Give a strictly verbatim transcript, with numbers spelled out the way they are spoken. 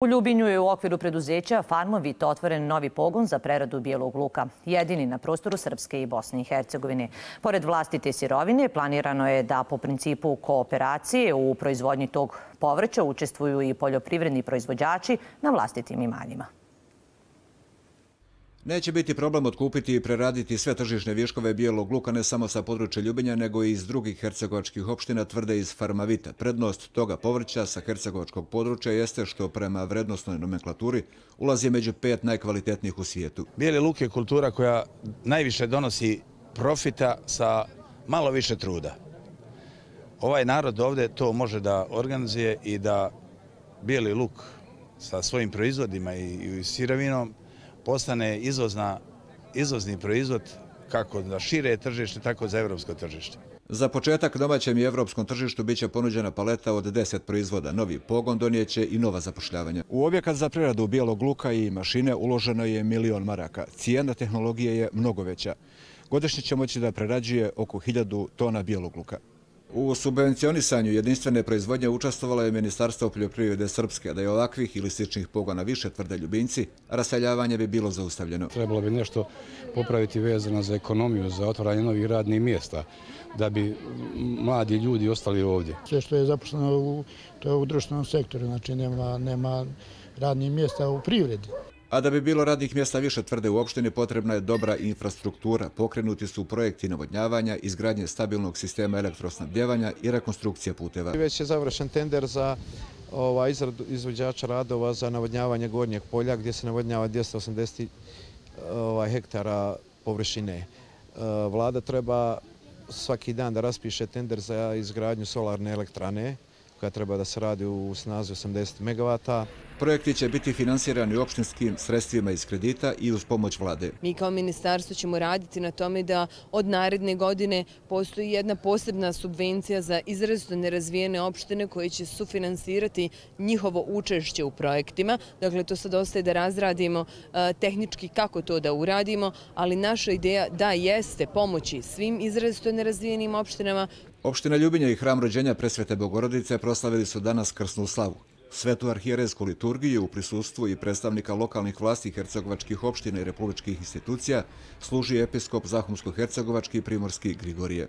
U Ljubinju je u okviru preduzeća Farmovit otvoren novi pogon za preradu bijelog luka, jedini na prostoru Srpske i Bosne i Hercegovine. Pored vlastite sirovine, planirano je da po principu kooperacije u proizvodnji tog povrća učestvuju i poljoprivredni proizvođači na vlastitim imanjima. Neće biti problem otkupiti i preraditi sve tržišne viškove bijelog luka ne samo sa područja Ljubinja, nego i iz drugih hercegovačkih opština, tvrde iz Farmavita. Prednost toga povrća sa hercegovačkog područja jeste što prema vrednostnoj nomenklaturi ulazi među pet najkvalitetnijih u svijetu. Bijeli luk je kultura koja najviše donosi profita sa malo više truda. Ovaj narod ovdje to može da organizuje i da bijeli luk sa svojim proizvodima i sirovinom postane izvozna, izvozni proizvod kako za šire tržište, tako za evropsko tržište. Za početak domaćem i evropskom tržištu biće ponuđena paleta od deset proizvoda. Novi pogon donijeće i nova zapošljavanja. U objekat za preradu bijelog luka i mašine uloženo je milion maraka. Cijena tehnologije je mnogo veća. Godišnje će moći da prerađuje oko hiljadu tona bijelog luka. U subvencionisanju jedinstvene proizvodnje učestvovalo je Ministarstvo poljoprivrede Srpske. Da je ovakvih ili sličnih pogona više, tvrde Ljubinci, raseljavanje bi bilo zaustavljeno. Trebalo bi nešto popraviti vezano za ekonomiju, za otvaranje novih radnih mjesta, da bi mladi ljudi ostali ovdje. Sve što je zaposleno u, to je u društvenom sektoru, znači nema, nema radnih mjesta u privredi. A da bi bilo radnih mjesta više, tvrde u opštini, potrebna je dobra infrastruktura. Pokrenuti su projekti navodnjavanja, izgradnje stabilnog sistema elektrosnabdjevanja i rekonstrukcija puteva. Već je završen tender za ovaj, izradu izvođača radova za navodnjavanje Gornjeg polja, gdje se navodnjava dvjesto osamdeset ovaj, hektara površine. Vlada treba svaki dan da raspiše tender za izgradnju solarne elektrane, koja treba da se radi u snazi osamdeset megavata. Projekti će biti finansirani opštinskim sredstvima iz kredita i uz pomoć vlade. Mi kao ministarstvo ćemo raditi na tome da od naredne godine postoji jedna posebna subvencija za izrazito nerazvijene opštine koje će sufinansirati njihovo učešće u projektima. Dakle, to sad ostaje da razradimo tehnički kako to da uradimo, ali naša ideja da jeste pomoći svim izrazito nerazvijenim opštinama. Opština Ljubinja i Hram rođenja Presvete Bogorodice proslavili su danas krsnu slavu. Svetu arhijerejsku liturgiju u prisustvu i predstavnika lokalnih vlasti hercegovačkih opština i republičkih institucija služi episkop Zahumsko-hercegovački Primorski Grigorije.